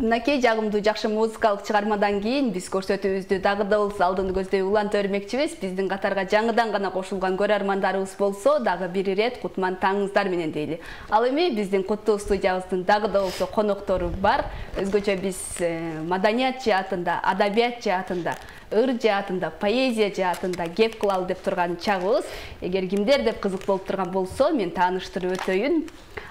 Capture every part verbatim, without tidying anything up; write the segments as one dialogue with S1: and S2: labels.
S1: Мынакей жагымдуу жакшы музыкалык чыгармадан кийин биз көрсөтүүбүздү дагы да болсо алдын көздөй уланта бермекчибиз. Биздин катарга жаңыдан гана кошулган көрөрмандарыбыз болсо дагы бир ирет кутман таңыңыздар менен дейли. Ал эми биздин куттуу студиябыздын дагы да болсо коноктору бар. Өзгөчө биз маданият жаатында, адабият жаатында, ыр жаатында, поэзия жаатында кеп кылалы деп турган чагыбыз. Эгер кимдер деп кызык болуп турган болсо, мен тааныштырып өтөйүн.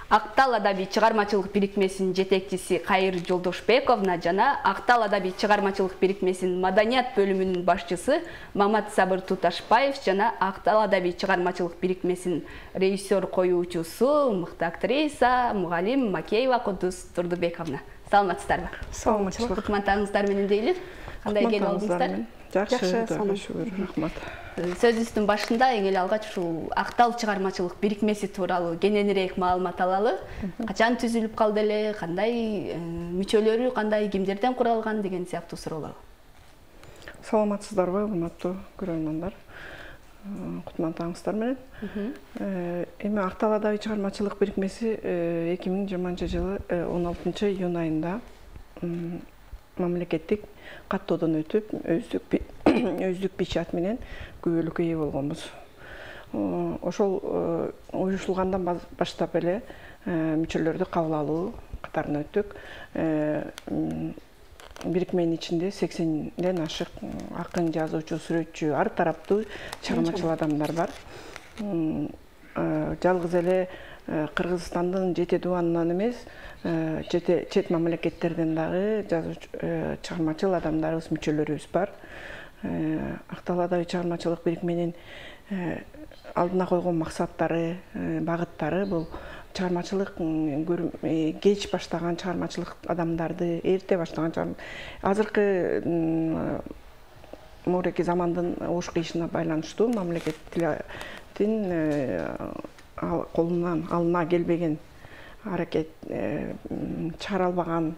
S1: Актал адабий чыгармачылык бирикмесинин жетекчиси Кайыр Жолдошбековна жана Актал адабий чыгармачылык бирикмесинин маданият бөлүмүнүн башчысы Мамат Сабыр Туташбаев жана Актал адабий чыгармачылык бирикмесинин режиссер коюучусу, мыкты актриса, мугалим Макеева Кудус Турдубековна. Саламатсыздарбы?
S2: Саламатчылык.
S1: Кутман таңыңыздар менен дейли. Кандай келип алдыңыздар?
S2: Жакшы, шүгүр, рахмат.
S1: Сөзүбүздүн башында эң эле алгач ушул Актал чыгармачылык бирикмеси тууралуу кененирээк маалымат алалы. Качан түзүлүп калды эле, кандай мүчөлөрү, кандай, кимдерден куралган деген сыяктуу суроолор.
S2: Саламатсыздарбы, урматтуу көрөрмандар? Кутман таңыңыздар менен. Эми Актал адабий чыгармачылык бирикмеси эки миң жыйырманчы жылы он алтынчы июнь айында мамлекеттик каттоодон өтүп, өздүк өздүк печать менен күбөлүккө ээ болгонбуз. Ошол уюшулгандан баштап эле мүчөлөрдү кабыл алуу катарына өттүк. Бирикменин ичинде сексенден ашык акын, жазуучу, сүрөтчү, ар тараптуу чыгармачыл адамдар бар. Жалгыз эле Кыргызстандын жети дубанынан эмес, чет мамлекеттерден дагы жазуучу, чыгармачыл адамдарыбыз, мүчөлөрүбүз бар. Актал адабий чыгармачылык бирикменин алдына койгон максаттары, багыттары бул чыгармачылык кеч баштаган чыгармачылык адамдарды, эрте баштаган, азыркы муреки замандын ош кыйышына байланыштуу мамлекеттин колунан алына келбеген аракет чыгара албаган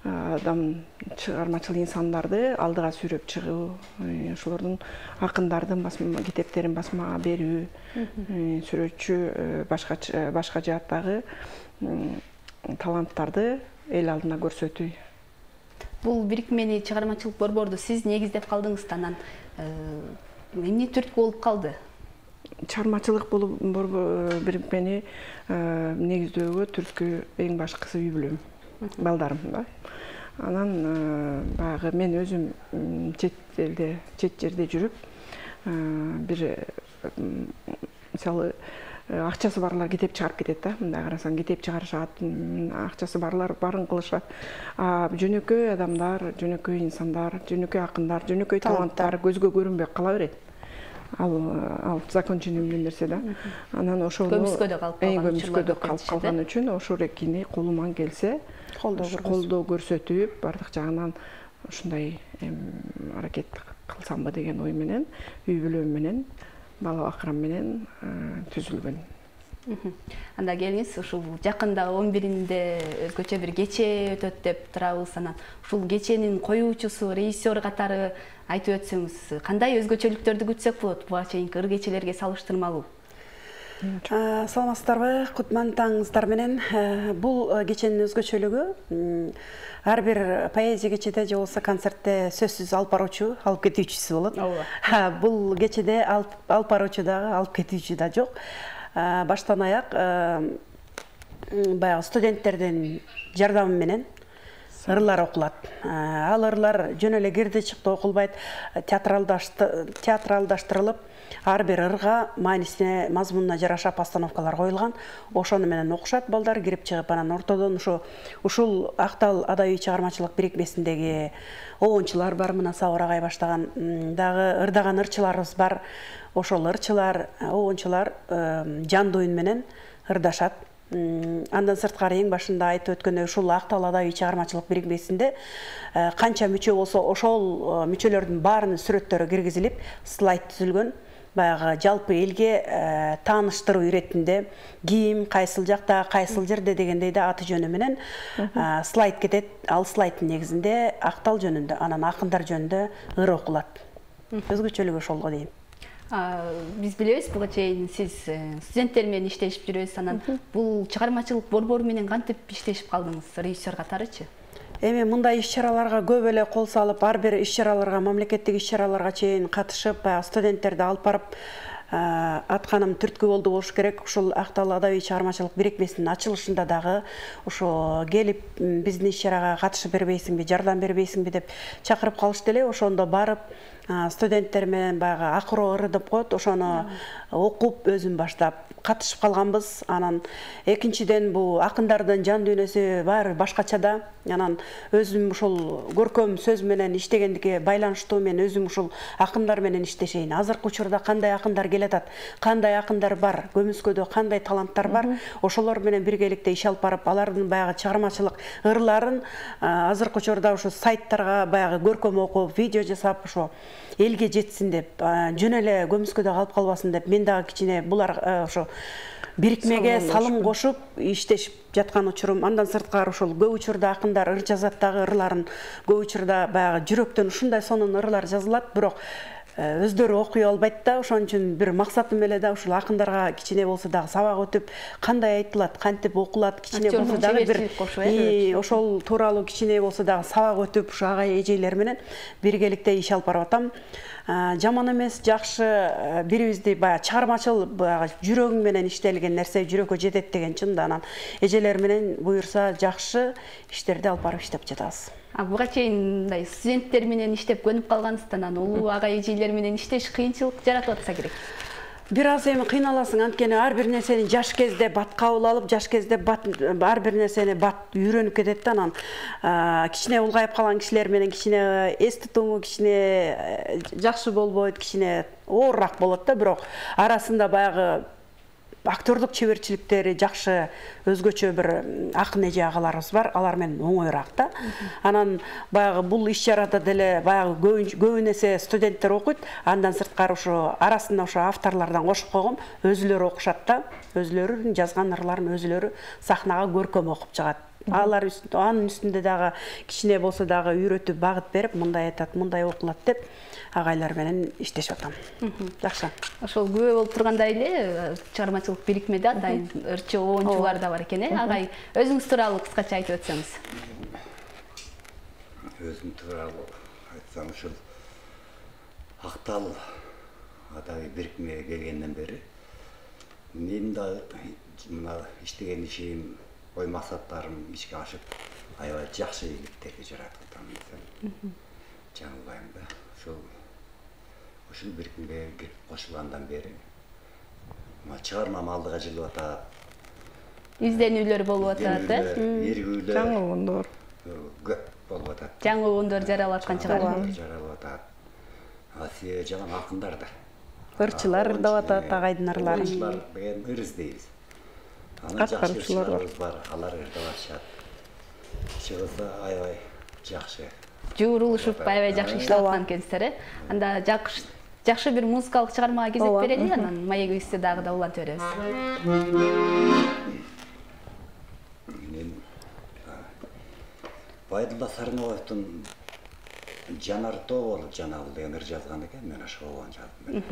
S2: адам, чыгармачыл инсандарды алдыга сүйрөп чыгуу, ошолордун акындардын китептерин басмага берүү, сүрөтчү, башка башка жааттагы таланттарды эл алдына көрсөтүү.
S1: Бул бирикмени, чыгармачылык борборду сиз негиздеп калдыңыз, анан эмне түрткү болуп калды?
S2: Чыгармачылык бирикмени негиздөөгө түрткү эң башкысы үй бүлөм, балдарым да. Анан баягы мен өзүм чет элде, чет жерде жүрүп, бир мисалы акчасы барлар китеп чыгарып кетет да. Мындай карасаң китеп чыгарышат, акчасы барлар барын кылышат. А жөнөкөй адамдар, жөнөкөй инсандар, жөнөкөй акындар, жөнөкөй таланттар көзгө көрүнбөй кала берет. Ал ал законченный нерсе да. Анан ошол
S1: көмүскөдө калып
S2: калган үчүн ошол экини колуман келсе колдоо көрсөтүп, бардык жагынан ушундай аракет кылсамбы деген ой менен, үй бүлөм менен, бала бакырам менен түзүлгөн.
S1: Анда келиңиз, ушул жакында он биринде өзгөчө бир кече өтөт деп турабыз. Анан ушул кеченин коюучусу, режиссер катары айтып өтсөңүз, кандай өзгөчөлүктөрдү күтсөк болот буга чейинки ыр кечелерге салыштырмалуу?
S3: Саламатсыздарбы, Кутман таңыңыздар менен. Бул кеченин өзгөчөлүгү ар бир поэзия кечеде же болбосо концертте сөзсүз алып баруучу, алып кетүүчүсү болот. Бул кечеде алып баруучу дагы, алып кетүүчү да жок. Баштан аяк баягы студенттердин жардамы менен ырлар окулат. Ал ырлар жөн эле кирди чыкты окулбайт, театралдаштырылып, ар бир ырга маанисине, мазмунуна жараша постановкалар коюлган. Ошону менен окушат балдар, кирип чыгып, анан ортодон ушул Актал адабий чыгармачылык бирикмесиндеги обончулар бар, мына Сабыр агай баштаган дагы ырдаган ырчыларыбыз бар. Ошол ырчылар, обончулар жандуу үн менен ырдашат. Андан сырткары эң башында айтып өткөндөй ушул Актал адабий чыгармачылык бирикмесинде канча мүчө болсо ошол мүчөлөрдүн баарынын сүрөттөрү киргизилип, слайд түзүлгөн. Баягы жалпы элге тааныштыруу иретинде ким, кайсыл жакта, кайсыл жерде дегендей да аты жөнү менен слайд кетет. Ал слайддын негизинде Актал жөнүндө, анан акындар жөнүндө ыр окулат. Өзгөчөлүгү ошолго дейм.
S1: Биз билебиз, буга чейин сиз студенттер менен иштешип жүрөсүз. Анан бул чыгармачылык борбору менен кантип иштешип калдыңыз, режиссер катарычы?
S3: эми мындай иш-чараларга көп эле кол салып, ар бир иш-чараларга, мамлекеттик иш-чараларга чейин катышып, баягы студенттерди алып барып атканым түрткү болду болуш керек. Ушул Актал адабий чыгармачылык бирикмесинин ачылышында дагы ошо келип биздин иш-чарага катышып бербейсиңби, жардам бербейсиңби деп чакырып калышты эле. Ошондо барып студенттер менен баягы акыроо ыры деп коет, ошону окуп өзүм баштап катышып калганбыз. Анан экинчиден бул акындардын жан дүйнөсү баары башкача да. Анан өзүм ушул көркөм сөз менен иштегендикке байланыштуу мен өзүм ушул акындар менен иштешейин. Азыркы учурда кандай акындар келатат, кандай акындар бар, Көмүскөдө кандай таланттар бар, ошолор менен биргеликте иш алып барып, алардын баягы чыгармачылык ырларын азыркы учурда ушу сайттарга баягы көркөм окуп, видео жасап, ошо элге жетсин деп, жөн эле Көмүскөдө калып калбасын деп, мен дагы кичине булар ошо бирикмеге салым кошуп иштешип жаткан учурум. Андан сырткары ушул көп учурда акындар ыр жазат дагы, ырларын көп учурда баягы жүрөктөн ушундай сонун ырлар жазылат, бирок өздөрү окуй албайт да. Ошон үчүн бир максатым эле да ушул акындарга кичине болсо дагы сабак өтүп, кандай айтылат, кантип окулат, кичине болсо дагы бир ошол тууралуу кичине болсо дагы сабак өтүп, ушу агай эжелер менен биргеликте иш алып барып атам. Жаман эмес, жакшы, бирибизди баягы чыгармачыл, баягы жүрөгүң менен иштелген нерсе жүрөккө жетет деген чында. Анан эжелер менен буюрса жакшы иштерди алып барып иштеп жатабыз.
S1: А буга чейин мындай студенттер менен иштеп көнүп калгансыздан, анан улуу агай эжелер менен иштеш кыйынчылык жаратып атса керек.
S3: Бир аз эми кыйналасың, анткени ар бир нерсени жаш кезде бат кабыл алып, жаш кезде бат ар бир нерсени бат үйрөнүп кетет да. Анан кичине улгайып калган кишилер менен кичине эс тутуму кичине жакшы болбойт, кичине оорураак болот да, бирок арасында баягы актерлук чеберчиликтери жакшы, өзгөчө бир акын эже агаларыбыз бар, алар менен оңоюраак да. Анан баягы бул иш-чарада деле баягы көбүн эсе студенттер окуйт, андан сырткары ошо арасында ошо авторлордон кошуп койгом, өзүлөрү окушат да, өзүлөрүнүн жазган ырларын өзүлөрү сахнага көркөм окуп чыгат. Алар анын үстүндө дагы кичине болсо дагы үйрөтүп, багыт берип, мындай айтат, мындай окулат деп агайлар менен иштешип атам. Жакшы.
S1: Ошол күбө болуп тургандай эле чыгармачылык бирикмеде атайын ырчы оончулар да бар экен, э? Агай, өзүңүз тууралуу кыскача айтып өтсөңүз.
S4: Өзүм тууралуу айтсам, ушул Актал адабий бирикмеге келгенден бери менин да мына иштеген ишим, ой максаттарым ишке ашып, аябай жакшы ийгиликтерди жаратып атам десем жаңылбайм да. Ушул ушул бирикмеге кирип кошулгандан бери чыгармам алдыга жылып атат.
S1: Изденүүлөр болуп атат, э?
S4: Эргүүлөр,
S2: жаңылгондор
S4: көп болуп атат.
S1: Жаңылгондор жаралып аткан чыгар.
S4: Жаралып атат. Асия жаган акындар да.
S3: Ырчылар деп атат агайдын ырларын.
S4: Ырчылар деген ыр издейбиз. Анан жакшы ырчыларыбыз бар, алар ырдап атышат. Чыгылса аябай жакшы.
S1: Жуурулушуп аябай жакшы иштеп аткан экенсиздер, э? Анда жакшы жакшы бир музыкалык чыгармага кезек берели, анан маегибизди дагы да улантып беребиз.
S4: Мен Байдулла Сарнабаевдин Жанар тоо болуп жанагыл деген ыр жазган экен, мен ошого жаздым.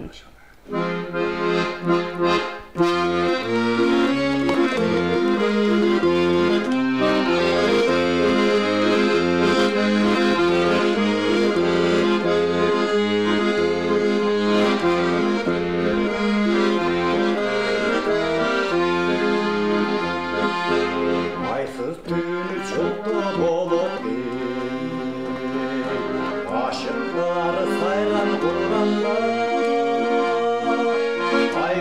S4: Aşıklar sayran kurbanlar, ay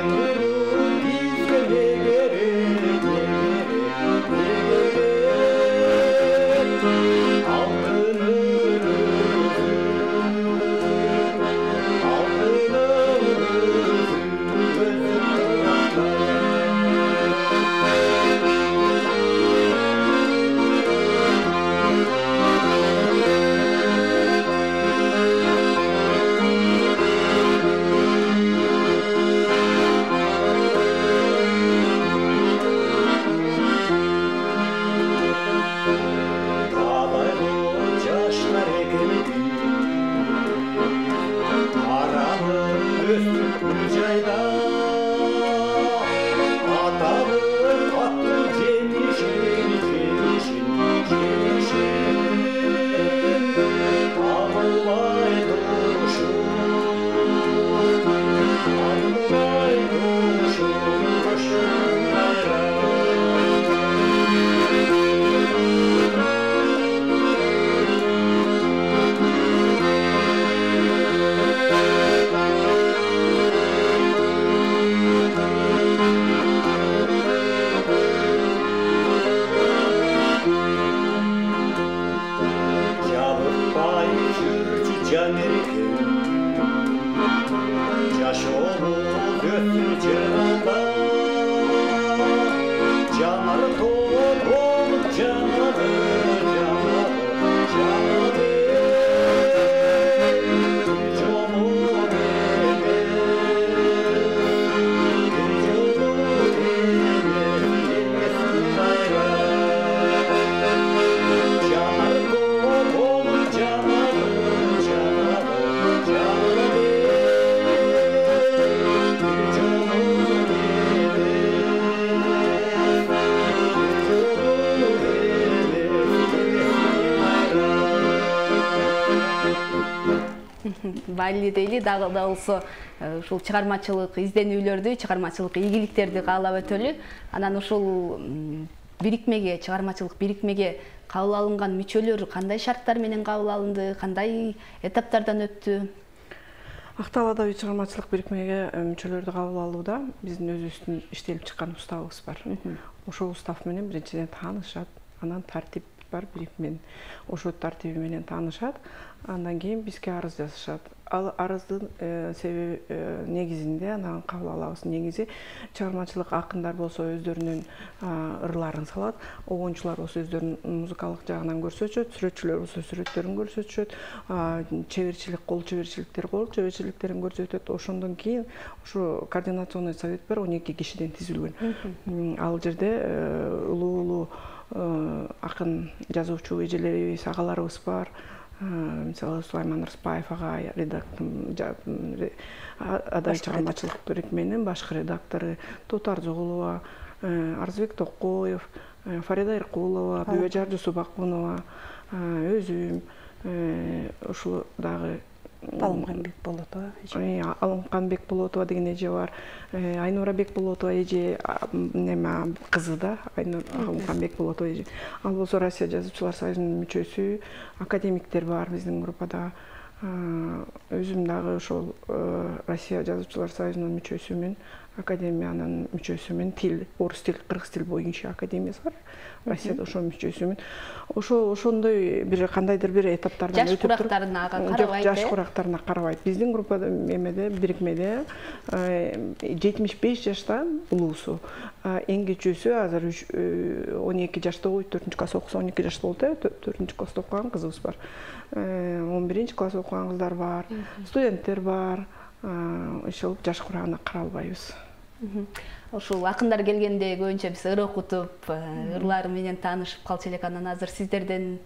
S1: майли дейли, дагы да болсо ушул чыгармачылык изденүүлөрдү, чыгармачылык ийгиликтерди каалап өтөлү. Анан ушул бирикмеге, чыгармачылык бирикмеге кабыл алынган мүчөлөр кандай шарттар менен кабыл алынды, кандай этаптардан өттү?
S2: Актал адабий чыгармачылык бирикмеге мүчөлөрдү кабыл алууда биздин өзүбүздүн иштелип чыккан уставыбыз бар. Ошол устав менен биринчиден таанышат, анан тартип бар бирикменин. Ошол тартиби менен таанышат, андан кийин бизге арыз жазышат. Ал арыздын себеби негизинде анан кабыл алабыз. Негизи чыгармачылык акындар болсо өздөрүнүн ырларын салат, огончулар болсо өздөрүнүн музыкалык жагынан көрсөтүшөт, сүрөтчүлөр болсо сүрөттөрүн көрсөтүшөт, чеберчилик, кол чеберчиликтер кол чеберчиликтерин көрсөтөт. Ошондон кийин ушу координационный совет бар, он эки кишиден түзүлгөн. Ал жерде улуу-улуу акын жазуучу эжелерибиз, агаларыбыз бар. Мисалы Сулайман Рыспаев ага адабий чыгармачылык бирикменин башкы редактору, Тотар Жогулова, Арзбек Токоев, Фарида Иркулова, Бүбөжар Жусупакунова, өзүм, ушул дагы
S3: Алымхан Бекболотова эже.
S2: Алымхан Бекболотова деген эже бар. Айнура Бекболотова эже неме кызы да, Алымхан Бекболотова эже. Ал болсо Россия жазуучулар союзунун мүчөсү, академиктер бар биздин группада. Өзүм дагы ошол Россия жазуучулар союзунун мүчөсүмүн, академиянын мүчөсүмүн, тил, орус тил, кыргыз тил боюнча академиясы бар. Россияда ошо мүчөсүмүн. Ошо ошондой бир кандайдыр бир этаптардан
S1: өтүп туруп. Жаш курактарына карабайт.
S2: Жаш курактарына карабайт. Биздин группада эмеде, бирикмеде жетимиш беш жашта улуусу. Эң кичүүсү азыр он эки жашта, төртүнчү класс окуса, он эки жашта болду, төртүнчү класста окуган кызыбыз бар. он биринчи класс окуган кыздар бар, студенттер бар. Ошол жаш курагына каралбайбыз.
S1: Ушул акындар келгенде көбүнчө биз ыр окутуп, ырлары менен таанышып калчу элек. Анан азыр сиздерден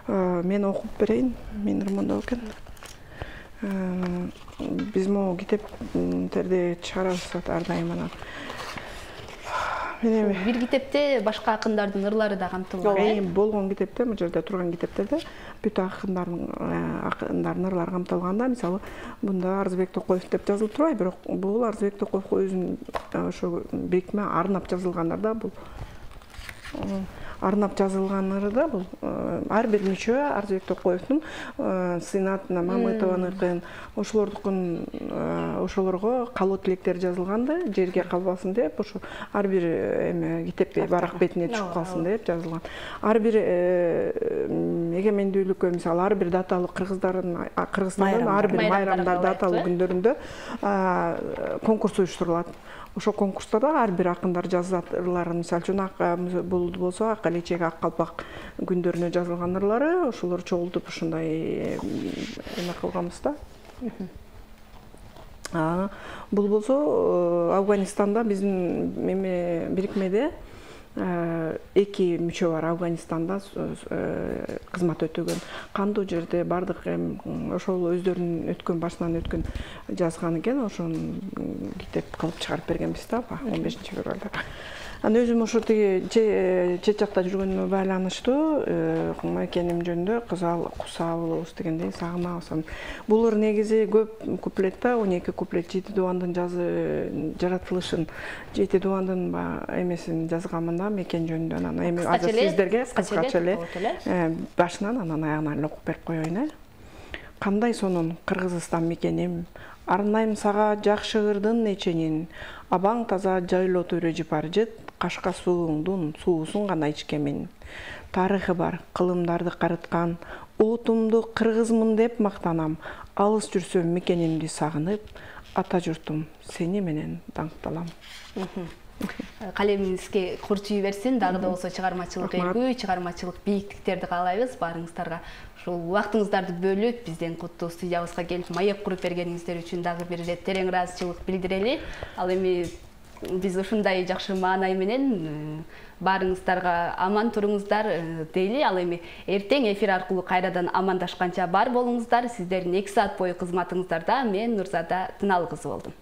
S2: мен окуп берейин, мен ырмондоо экен. Биз могу китептерди чыгарабыз ар дайым анан.
S1: Бир китепте башка акындардын ырлары да камтылган.
S2: Болгон китепте, бул жерде турган китептерде бүт акындардын акындардын ырлары камтылган да. Мисалы, мында Арзбек Токоев деп жазылып турбайбы, бирок бул Арзбек Токоев өзүнүн ошо бирикме арнап жазылгандар да бул. Арнап жазылган ырда бул ар бир мүчө Арзбек Токоевдун Сыйнатына, Мамытованыкын, ошолордукун ошолорго калуу тилектер жазылганды, жерге калбасын деп, ошо ар бир эме китеп барак бетине түшүп калсын деп жазылган. Ар бир эгемендүүлүккө, мисалы, ар бир даталуу кыргыздардын Кыргызстандын ар бир майрамдар, даталуу күндөрүндө конкурс уюштурулат. Ошо конкурстарда ар бир акындар жазат ырларын, мисалы үчүн бул болсо ак алечек, ак калпак күндөрүнө жазылган ырлары, ошолор чогултуп ушундай эме кылганбыз да. Бул болсо Афганистанда биздин эме бирикмеде эки мүчө бар, Афганистанда кызмат өтөгөн. Кандуу жерде бардык ошол өздөрүнүн өткөн башынан өткөн жазган экен, ошону китеп кылып чыгарып бергенбиз да, он бешинчи февралда. Анан өзүм ошо тиги чет жакта жүргөнүмө байланыштуу экеним жөнүндө кусабыз дегендей сагынабыз. Бул ыр негизи көп куплетта, он эки куплет, жети дубандын жазы жаратылышын, жети дубандын эмесин жазганмын да, мекен жөнүндө. Анан эми азыр сиздерге кыскача эле башынан анан аягына эле окуп берип коеюн, э. Кандай сонун Кыргызстан мекеним, арнайм сага жакшы ырдын неченин, абаң таза жайлоо төрө жыпар жыт, кашка сууңдун суусун гана ичкемин. Тарыхы бар, кылымдарды карыткан, утумду кыргызмын деп мактанам, алыс жүрсөм мекенимди сагынып, ата журтум сени менен даңкталам.
S1: Калемиңизге курчуй берсин, дагы да болсо чыгармачылык ийгүү, чыгармачылык бийиктиктерди каалайбыз баарыңыздарга. Ушул убактыңыздарды бөлүп, бизден куттуу студиябызга келип маек куруп бергениңиздер үчүн дагы бир ирет терең ыраазычылык билдирели. Ал эми биз ушундай жакшы маанай менен баарыңыздарга аман туруңуздар дейли. Ал эми эртең эфир аркылуу кайрадан амандашканча бар болуңуздар. Сиздердин эки саат бою кызматыңыздарда мен Нурзада Тыналкызы болдум.